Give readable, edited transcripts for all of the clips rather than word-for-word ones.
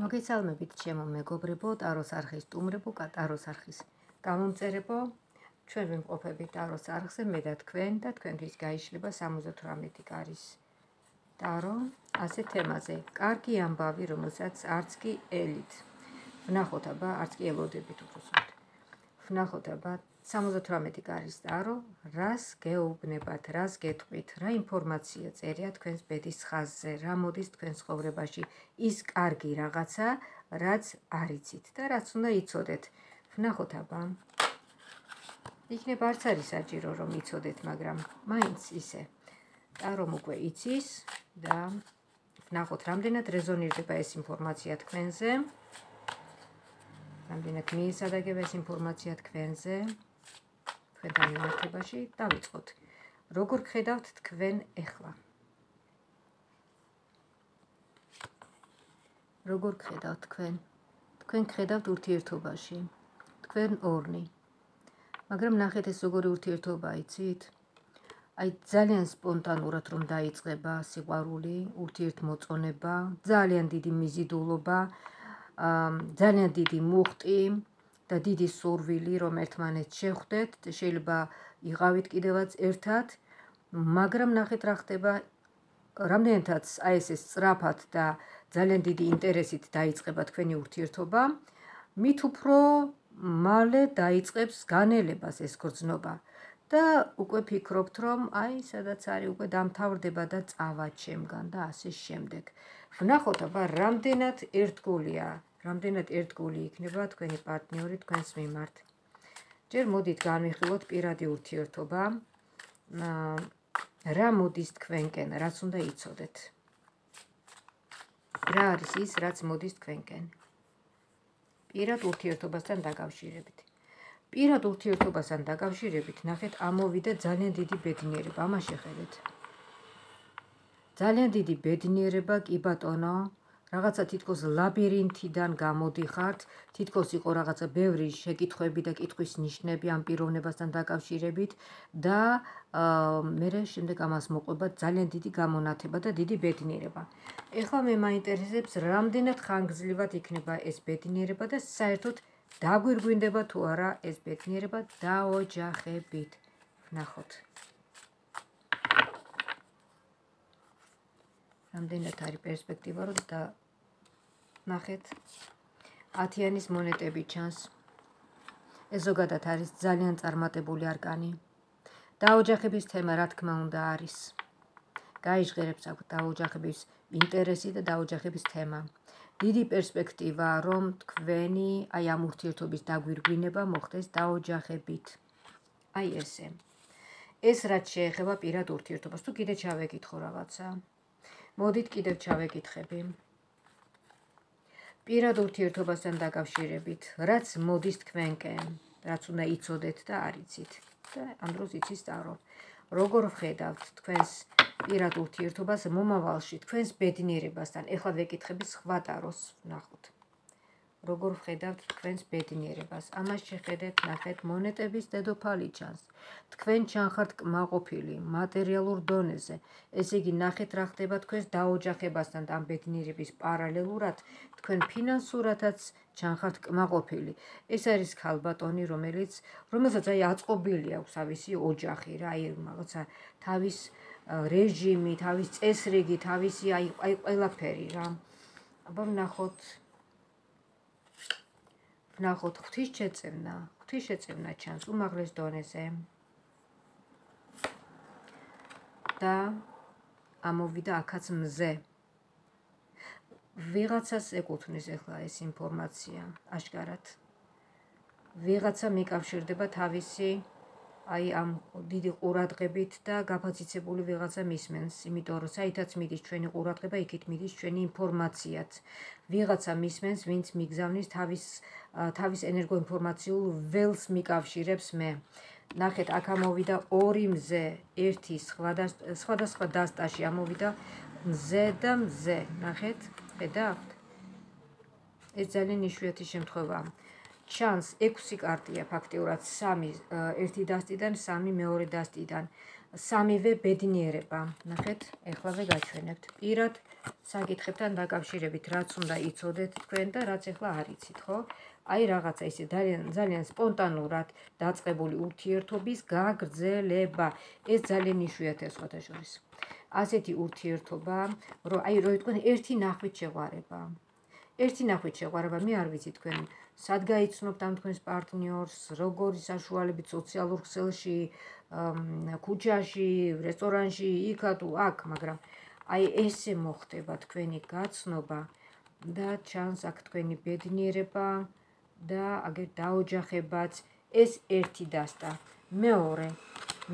მოგესალმებით ჩემო მეგობრებო, ტაროს არხის სტუმრებო, ტაროს არხის გამომწერებო. ჩვენ ვიმყოფებით ტაროს არხზე, მე და თქვენთვის გაიშლება 78 კარის ტარო ასე თემაზე. კარგი ამბავი, რომელსაც არც კი ელით. ვნახოთ აბა, არც კი ელოდებით უბრალოდ. ვნახოთ აბა 78 კარის ტარო, რას გეუბნებათ, რას გეტყვით, რა ინფორმაცია წერია თქვენს ბედის ხაზზე, რა მოდის თქვენს ცხოვრებაში, ის კარგი რაღაცა, რაც არ იცით და რაც უნდა იცოდეთ. ვნახოთ აბა. იქნება არც არის საჭირო რომ იცოდეთ, მაგრამ მაინც ისე. ტარომ უკვე იცის და ვნახოთ რამდენად რეზონირდება ეს ინფორმაცია თქვენზე. რამდენად მიესადაგება ეს ინფორმაცია თქვენზე. თქვენთან მიმართებაში დავიწყოთ. როგორ გხედავთ თქვენ ეხლა? როგორ გხედავთ თქვენ? თქვენ გხედავთ ურთიერთობაში. თქვენ ორნი. მაგრამ ნახეთ ეს როგორი ურთიერთობა იცით? აი ძალიან სპონტანურად რომ დაიწყება სიყვარული, ურთიერთმოწონება, ძალიან დიდი მიზიდულობა, ძალიან დიდი მუხტი და დიდი სურვილი რომ ერთმანეთს შეხვდეთ, შეიძლება იყავით კიდევაც ერთად, მაგრამ ნახეთ რა ხდება, რამდენადაც აი ეს სწრაფად და ძალიან დიდი ინტერესით დაიწყება თქვენი ურთიერთობა, მით უფრო მალე დაიწყებს განელებას ეს გრძნობა და უკვე ფიქრობთ რომ აი სადაც არის უკვე დამთავრდება და წავა ჩემგან და ასე შემდეგ. ვნახოთ აბა რამდენად ერთგულია, რამდენად ერთგული იქნება თქვენი პარტნიორი თქვენს მიმართ. ჯერ მოდით განვიხილოთ პირადი ურთიერთობა, რა მოდის თქვენკენ, რაც უნდა იცოდეთ. რა არის ის, რაც მოდის თქვენკენ? პირად ურთიერთობასთან დაკავშირებით. პირად ურთიერთობასთან დაკავშირებით, ნახეთ, ამოვიდა ძალიან დიდი ბედნიერება, ამას შეხედეთ. ძალიან დიდი ბედნიერება, კი ბატონო, რაღაცა თითქოს ლაბირინთიდან გამოდიხართ, თითქოს იყო რაღაცა ბევრი შეკითხვები და კითხვის ნიშნები ამ პიროვნებასთან დაკავშირებით და მერე შემდეგ ამას მოყვება ძალიან დიდი გამონათება და დიდი ბედნიერება. ეხლა მე მაინტერესებს, რამდენად ხანგრძლივად იქნება ეს ბედნიერება და საერთოდ დაგვირგვინდება თუ არა ეს ბედნიერება დაოჯახებით. ვნახოთ. რამდენად არის პერსპექტივა რომ ნახეთ, 10-იანის მონეტები ჩანს. ეს ზოგადად არის ძალიან წარმატებული არკანი. დაოჯახების თემა რა თქმა უნდა არის. გაიჟღერებს აქ დაოჯახების ინტერესი და დაოჯახების თემა. დიდი პერსპექტივა რომ თქვენი აი ამ ურთიერთობის დაგვირგვინება მოხდეს დაოჯახებით. აი ესე. ეს რაც შეეხება პირად ურთიერთობას, თუ კიდე ჩავეკითხო რაღაცა. მოდით კიდევ ჩავეკითხები. პირად ურთიერთობასთან დაკავშირებით, რაც მოდის თქვენკენ, რაც უნდა იცოდეთ და არ იცით. და ამ დროს იცის ტარო. როგორ ვხედავთ თქვენს პირად ურთიერთობას მომავალში, თქვენს ბედნიერებასთან. ეხლა ვეკითხები სხვა ტაროს, ვნახოთ. როგორ ვხედავთ თქვენს ბედნიერებას? ამას შეხედეთ, ნახეთ, მონეტების დედოფალი ჩანს. თქვენ ჩანხართ კმაყოფილი, მატერიალურ დონეზე. ესე იგი, ნახეთ რა ხდება თქვენს დაოჯახებასთან და ამ ბედნიერების პარალელურად, თქვენ ფინანსურადაც ჩანხართ კმაყოფილი. ეს არის ქალბატონი, რომელსაც აი აწყობილი აქვს თავისი ოჯახი, რა, აი რაღაცა თავის რეჟიმი, თავის წესრიგი, თავისი აი ყველაფერი რა. აბა ვნახოთ ღვთისშეწევნა ჩანს უმაღლეს დონეზე. და ამოვიდა აქაც მზე. ვიღაცას ეკუთვნის ეხლა ეს ინფორმაცია, აშკარად. ვიღაცა მიკავშირდება თავისი აი ამ დიდი ყურადღებით და გაფაციცებული ვიღაცა მისმენს, იმიტომ რომ საითაც მიდის ჩვენი ყურადღება, იქით მიდის ჩვენი ინფორმაციაც. ვიღაცა მისმენს, ვინც მიგზავნის თავის ენერგოინფორმაციულ ველს მიკავშირებს მე. ნახეთ, აქ ამოვიდა ორი მზე, ერთი სხვადასხვა დასტაში ამოვიდა მზე და მზე. ნახეთ, ხედავთ? ეს ძალიან იშვიათი შემთხვევაა. ჩანს 6 კარტია ფაქტიურად, 3 ერთი დასტიდან, 3 მეორე დასტიდან. სამივე ბედნიერება. ნახეთ, ეხლავე გაჩვენებთ. პირად საკითხებთან დაკავშირებით, რაც უნდა იცოდეთ თქვენ და რაც ეხლა არ იცით, ხო? აი რაღაცა ისე ძალიან სპონტანურად დაწყებული ურთიერთობის გაგრძელება. ეს ძალიან იშვიათია სხვათა შორის. ასეთი ურთიერთობა, რომ თქვენ ერთი ნახვით შეყვარება. ერთი ნახვით შეყვარება, მე არ ვიცი თქვენ სად გაიცნობთ ამ თქვენს პარტნიორს, როგორი საშუალებით სოციალურ ქსელში, ქუჩაში, რესტორანში, იქა თუ აქ, მაგრამ აი ესე მოხდება თქვენი გაცნობა და ჩანს აქ თქვენი ბედნიერება და აგერ დაოჯახებაც. ეს ერთი დასტა.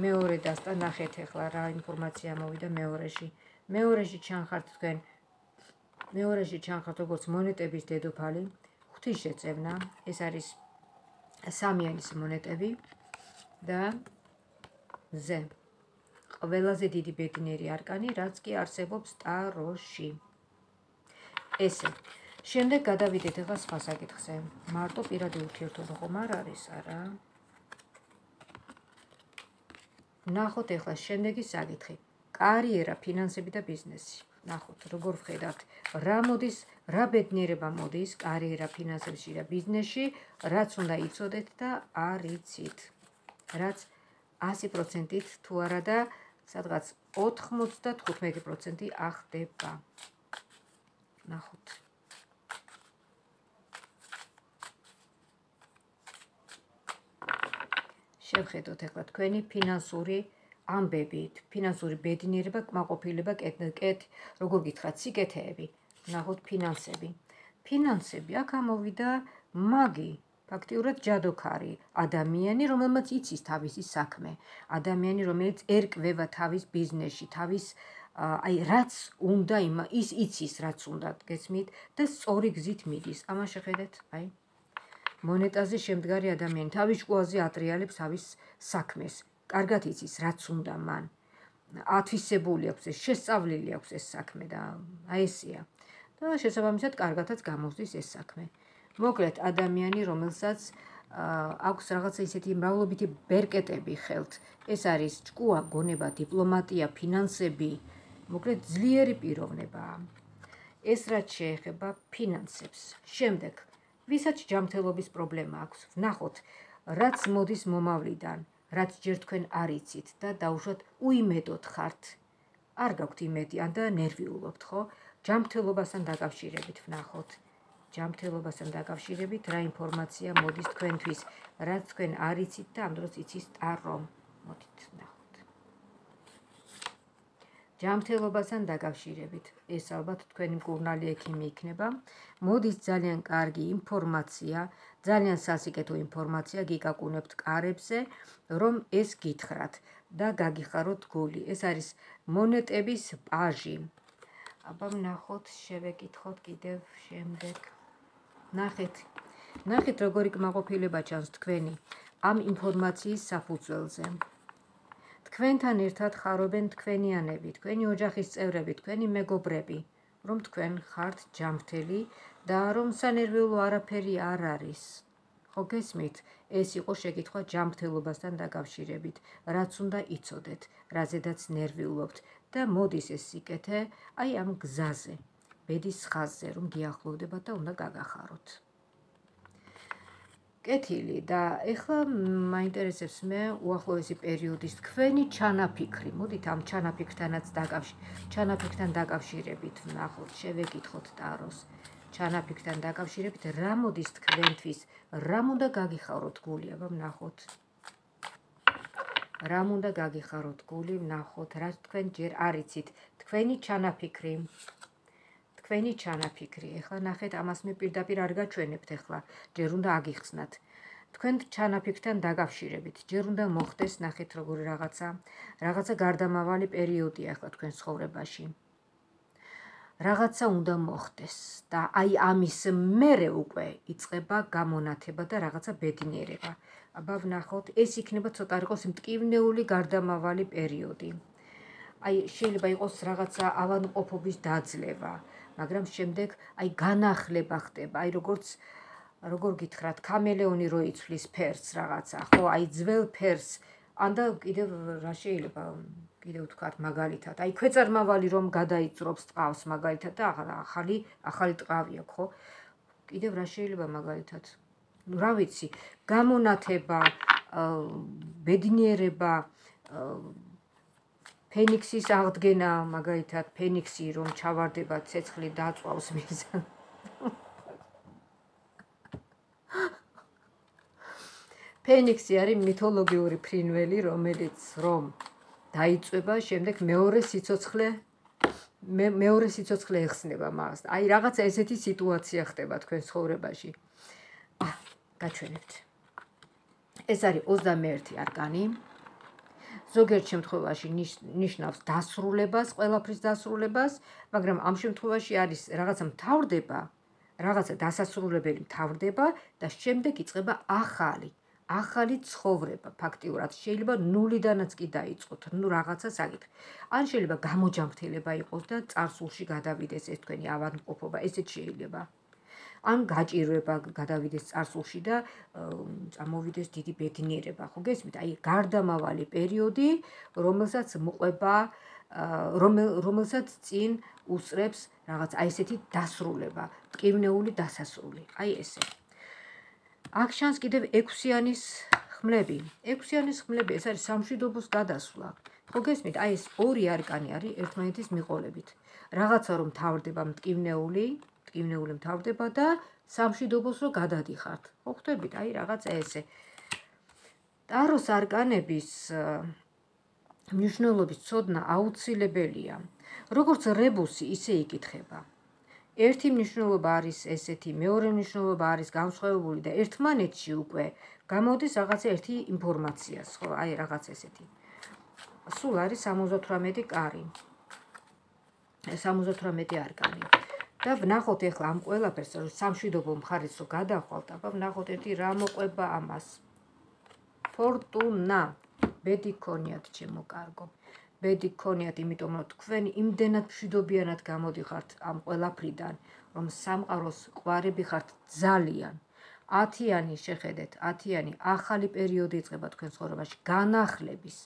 მეორე დასტა, ნახეთ ახლა რა ინფორმაცია მოვიდა მეორეში. მეორეში ჩანხართ თქვენ, როგორც მონეტების დედოფალი, ღვთისშეწევნა, ეს არის სამიანის მონეტები და ზე. ყველაზე დიდი ბედნიერი არკანი, რაც კი არსებობს ტაროში. ესე. შემდეგ გადავიდეთ ახლა სხვა საკითხზე. მარტო პირადი ურთიერთობა ხომ არ არის, არა? ნახოთ ახლა შემდეგი საკითხი. კარიერა, ფინანსები და ბიზნესი. ნახოთ, როგორ ვხედავთ, რა ბედნიერება მოდის კარიერა, ფინანსებში და ბიზნესში, რაც უნდა იცოდეთ და არ იცით. რაც 100%-ით თუ არა და სადღაც 95% ახდება. ნახოთ. შევხედოთ ახლა თქვენი ფინანსური ამბები, ფინანსური ბედნიერება, კმაყოფილება, როგორ გითხრათ, სიკეთეები. ნახოთ ფინანსები. ფინანსები, აქ ამოვიდა მაგი, ფაქტიურად ჯადოქარი, ადამიანი, რომელმაც იცის თავისი საქმე, ადამიანი, რომელიც ერკვევა თავის ბიზნესში, თავის რაც უნდა, ის იცის, რაც უნდა, გესმით და სწორი გზით მიდის. ამას შეხედეთ, მონეტაზე შემდგარი ადამიანი თავის ჭკუაზე ატრიალებს თავის საქმეს. კარგად იცის, რაც უნდა მან. ათვისებული აქვს ეს, შესწავლილი აქვს ეს საქმე და ესეა. და შესაბამისად კარგადაც გამოსდის ეს საქმე. მოკლედ, ადამიანი, რომელსაც აქვს რაღაცა ისეთი მრავლობითი ბერკეტები ხელთ. ეს არის ჭკუა, გონება, დიპლომატია, ფინანსები, მოკლედ ძლიერი პიროვნებაა. ეს რაც შეეხება ფინანსებს. შემდეგ, ვისაც ჯანმრთელობის პრობლემა აქვს, ვნახოთ, რაც მოდის მომავლიდან, რაც ჯერ თქვენ არ იცით და დაუშვათ უიმედოდ ხართ. არ გაქვთ იმედი, ან და ნერვიულობთ, ხო? ჯანმრთელობასთან დაკავშირებით ვნახოთ. ჯანმრთელობასთან დაკავშირებით რა ინფორმაცია მოდის თქვენთვის, რაც თქვენ არ იცით და ამ დროს იცის ტარო. მოდით ვნახოთ. ჯანმრთელობასთან დაკავშირებით, ეს ალბათ თქვენი მკურნალი ექიმი იქნება. მოდის ძალიან კარგი ინფორმაცია, ძალიან სასიკეთო ინფორმაცია გიკაკუნებთ კარებზე, რომ ეს გითხრათ და გაგიხაროთ გული. ეს არის მონეტების პაჟი. აბა ვნახოთ, შევეკითხოთ კიდევ შემდეგ. ნახეთ, როგორი კმაყოფილება ჩანს თქვენი ამ ინფორმაციის საფუძველზე. თქვენთან ერთად ხარობენ თქვენიანები, თქვენი ოჯახის წევრები, თქვენი მეგობრები, რომ თქვენ ხართ ჯანმრთელი და რომ სანერვიულო არაფერი არ არის. ხო გესმით? ეს იყო შეკითხვა ჯანმრთელობასთან დაკავშირებით, რაც უნდა იცოდეთ, რაზედაც ნერვიულობთ და მოდის ეს სიკეთე აი ამ გზაზე, ბედის ხაზზე, რომ გიახლოვდებათ და უნდა გაგახაროთ. კეთილი და ეხლა მაინტერესებს მე უახლოესი პერიოდის თქვენი ჩანაფიქრი. მოდით ამ ჩანაფიქრთან დაკავშირებით ვნახოთ, შევეკითხოთ ტაროს. ჩანაფიქრთან დაკავშირებით რა მოდის თქვენთვის, რამ უნდა გაგიხაროთ გული, აბა ვნახოთ. რამ უნდა გაგიხაროთ გული, ვნახოთ, რაც თქვენ ჯერ არ იცით, თქვენი ჩანაფიქრი. თქვენი ჩანაფიქრი. ეხლა ნახეთ, ამას მე პირდაპირ არ გაჩვენებთ ეხლა, ჯერ უნდა აგიხსნათ. თქვენ ჩანაფიქრთან დაკავშირებით, ჯერ უნდა მოხდეს, ნახეთ როგორი რაღაცა გარდამავალი პერიოდია ეხლა თქვენ ცხოვრებაში. რაღაცა უნდა მოხდეს და აი ამის მერე უკვე იწყება გამონათება და რაღაცა ბედნიერება. აბა ვნახოთ, ეს იქნება ცოტა იყოს მტკივნეული გარდამავალი პერიოდი. აი შეიძლება იყოს რაღაცა ავადმყოფობის დაძლევა, მაგრამ შემდეგ აი განახლება ხდება, აი როგორ გითხრათ, ქამელეონი რო იცვლის ფერს რაღაცა, ხო, აი ძველ ფერს ანდა კიდევ რა შეიძლება კიდევ ვთქვათ მაგალითად, აი ქვეწარმავალი რომ გადაიწრობს ტყავს მაგალითად და ახალი ტყავია, ხო? კიდევ რა შეიძლება მაგალითად? რა ვიცი, გამონათება, ბედნიერება, ფენიქსის აღდგენა, მაგალითად, ფენიქსი რომ ჩავარდება, ცეცხლი დაწვავს მიზანს. ფენიქსი არის მითოლოგიური ფრინველი, რომელიც რომ დაიწვება, შემდეგ მეორე სიცოცხლე ეხსნება მას. აი რაღაცა ესეთი სიტუაცია ხდება თქვენ ცხოვრებაში. გაჩვენებთ. ეს არის 21 არკანი. ზოგიერთ შემთხვევაში ნიშნავს დასრულებას, ყველაფრის დასრულებას, მაგრამ ამ შემთხვევაში არის რაღაცა მთავრდება, რაღაცა დასასრულებელი მთავრდება და შემდეგ იწყება ახალი ცხოვრება, ფაქტიურად შეიძლება ნულიდანაც კი დაიწყოთ, რაღაცა საკითხი. ან შეიძლება გამოჯანმრთელება იყოს და წარსულში გადავიდეს ეს თქვენი ავადმყოფობა, ესეც შეიძლება. ან გაჭირვება გადავიდეს წარსულში და წამოვიდეს დიდი ბედნიერება, ხო გესმით? აი გარდამავალი პერიოდი, რომელსაც წინ უსწრებს რაღაც აი ესეთი დასრულება, ტკივნეული დასასრული. აი ესე. აქ შანს კიდევ 6-იანის ხმლები. 6-იანის ხმლები ეს არის სამშვიდობოს გადასვლა. ხო გესმით? აი ეს ორი არკანი არის ერთმანეთის მიყოლებით. რაღაცა რომ თავდება მტკივნეული მთავრდება და სამშვიდობოს რო გადადიხართ. ხო ხვდებით? აი რაღაცა ესე. ტაროს არკანების მნიშვნელობის ცოდნა აუცილებელია. როგორც რებუსი, ისე იკითხება. ერთი მნიშვნელობა არის ესეთი, მეორე მნიშვნელობა არის განსხვავებული და ერთმანეთში უკვე გამოდის რაღაცა ერთი ინფორმაცია, ხო, აი რაღაც ესეთი. სულ არის 78 კარი. 78 არკანი. და ვნახოთ ეხლა ამ ყველაფერს, რომ სამშვიდობო მხარეს რო გადახვალთ, აბა ვნახოთ ერთი რა მოყვება ამას. ფორტუნა. ბედი გქონიათ, ჩემო კარგო. ბედი გქონიათ, იმიტომ რომ თქვენ იმდენად მშვიდობიანად გამოდიხართ ამ ყველაფრიდან, რომ სამყაროს ყვარები ხართ ძალიან. 10-იანი შეხედეთ, 10-იანი ახალი პერიოდი იწყება თქვენ ცხოვრებაში, განახლების,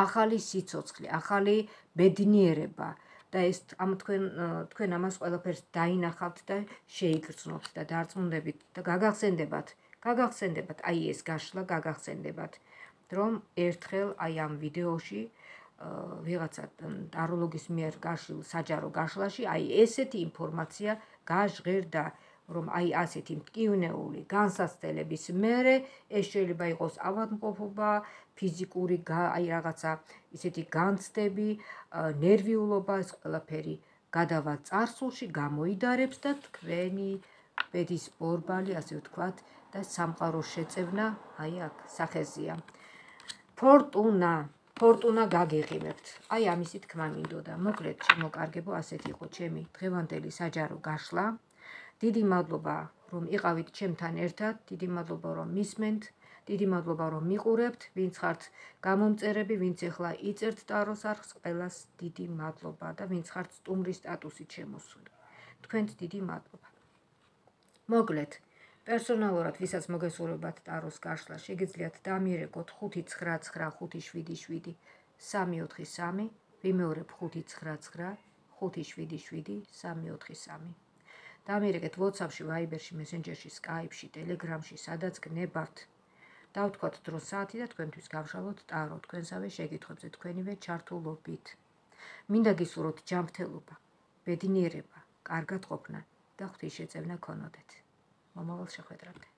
ახალი სიცოცხლე, ახალი ბედნიერება. და ეს თქვენ ამას ყველაფერს დაინახავთ და შეიგრძნობთ და დარწმუნდებით და გაგახსენდებათ, აი ეს გაშლა გაგახსენდებათ, რომ ერთხელ აი ამ ვიდეოში ვიღაცა ტაროლოგის მიერ გაშლილ საჯარო გაშლაში აი ესეთი ინფორმაცია გაჟღერდა, რომ აი ასეთი მტკივნეული განსაცდელების მერე ეს შეიძლება იყოს ავადმყოფობა, ფიზიკური აი რაღაცა ისეთი განცდები, ნერვიულობა, ეს ყველაფერი გადავა წარსულში, გამოიდარებს და თქვენი ბედის ბორბალი, ასე ვთქვათ, და სამყაროს შეწევნა აი აქ სახეზია. ფორტუნა გაგიღიმებთ. აი ამისი თქმა მინდოდა. მოკლედ, ჩემო კარგებო, ასეთი იყო ჩემი დღევანდელი საჯარო გაშლა. დიდი მადლობა, რომ იყავით ჩემთან ერთად, დიდი მადლობა, რომ მისმენთ, დიდი მადლობა, რომ მიყურებთ, ვინც ხართ გამომწერები, ვინც ეხლა იწერთ ტაროს არხს, ყველას დიდი მადლობა და ვინც ხართ სტუმრის სტატუსით შემოსული. თქვენთ დიდი მადლობა. მოკლედ, პერსონალურად, ვისაც მოგესურვებათ ტაროს გაშლა, შეგიძლიათ დამიერეკოთ 5995777 343, ვიმეორებ 599 577 343. დამიერეკეთ WhatsApp-ში, Viber-ში, Messenger-ში, Skype-ში, Telegram-ში, სადაც გნებავთ. დავთქვათ დრო საათი და თქვენთვის გავშალოთ ტარო, თქვენსავე შეკითხვებზე, თქვენივე ჩართულობით. მინდა გისურვოთ ჯანმრთელობა, ბედნიერება, კარგად ყოფნა და ღვთისშეწევნა გქონოდეთ. მომავალ შეხვედრამდე.